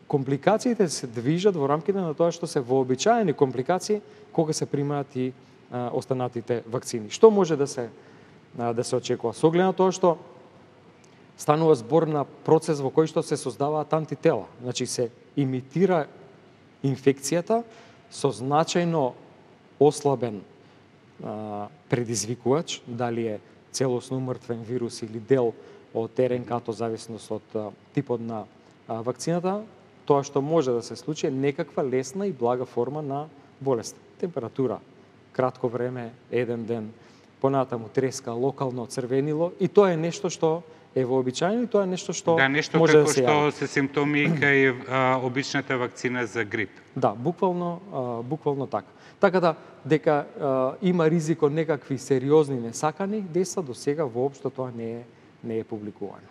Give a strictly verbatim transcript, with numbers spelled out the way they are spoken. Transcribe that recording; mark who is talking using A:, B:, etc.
A: компликациите се движат во рамките на тоа што се вообичаени компликации кога се примаат и а, останатите вакцини. Што може да се а, да се очекува? Со оглед на тоа што станува збор на процес во кој што се создаваат антитела. Значи се имитира инфекцијата со значајно ослабен а, предизвикувач, дали е целосно умртвен вирус или дел од РНК-то, зависност од а, типот на а, вакцината, тоа што може да се случи е некаква лесна и блага форма на болест. Температура, кратко време, еден ден, понатаму треска, локално црвенило, и тоа е нешто што е вообичаено и тоа е нешто што
B: да, нешто
A: може
B: како
A: да се
B: што
A: јави.
B: се симптоми кај а, обичната вакцина за грип.
A: Да, буквално, а, буквално така. Така да, дека а, има ризик од некакви сериозни несакани дејства, до сега воопшто тоа не е не е публикувано.